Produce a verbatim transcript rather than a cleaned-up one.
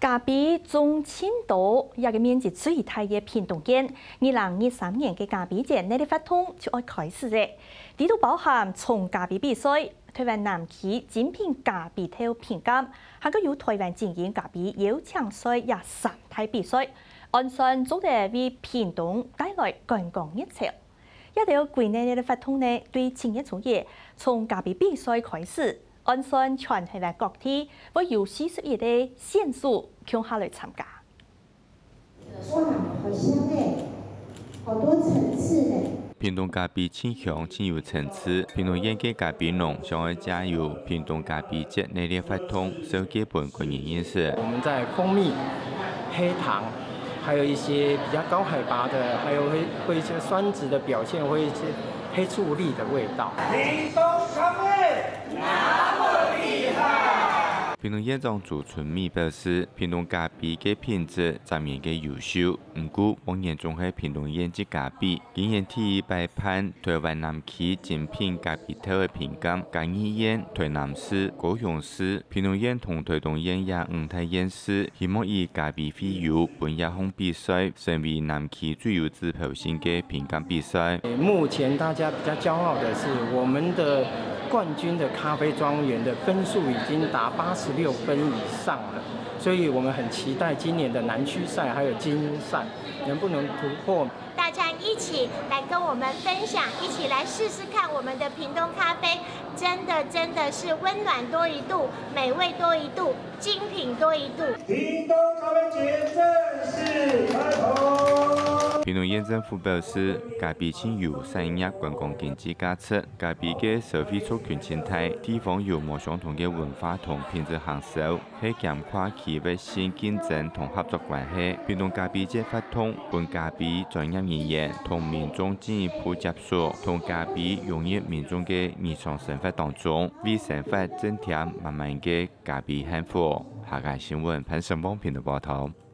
咖啡種盡多，這个面積最大个屏東縣，二零二三年个咖啡節熱烈活動就愛開始咧。裡肚包含種咖啡比賽、台灣南區精品咖啡豆評鑑，還過有台灣精英咖啡邀請賽這三大比賽，按算做得為屏東帶來觀光熱潮。這兜國內个活動呢，對七月初一從咖啡比賽開始， 按算全台灣各地會有四十一个選手共下來參加。哇，好香哎，好多層次呢。屏東咖啡盡香盡有層次，屏東縣个咖啡農想愛藉由屏東咖啡節熱烈活動，紹介分國人認識。我們在蜂蜜、黑糖，還有一些比較高海拔的，還有會，會一些酸質的表現，會一些黑醋栗的味道。屏東咖啡。 屏東縣長朱春美表示，屏東咖啡个品質正面个優秀，毋過往年總係屏東縣自家比，今年第一擺辦台灣南區精品咖啡豆个評鑑，嘉義縣、台南市、高雄市、屏東縣同台東縣這五大縣市，希望以咖啡會友分這項比賽，成為南區最有指標性个評鑑比賽。目前大家比較驕傲的是，我們的冠軍的咖啡莊園的分數已經達八十六分以上了，所以我們很期待今年的南區賽還有精英賽能不能突破。大家一起來跟我們分享，一起來試試看我們的屏東咖啡，真的真的是溫暖多一度，美味多一度，精品多一度。屏東咖啡節正式開通。屏東縣政府表示，咖啡盡有產業觀光經濟價值，咖啡个消費族群盡大，地方有無相同个文化同品質行銷， 係兼跨區域性競爭同合作關係。屏東咖啡節活動分咖啡專業人員同民眾進一步接觸，同咖啡融入民眾个日常生活當中，為生活增添滿滿个咖啡幸福。客家新聞潘成旺屏東報導。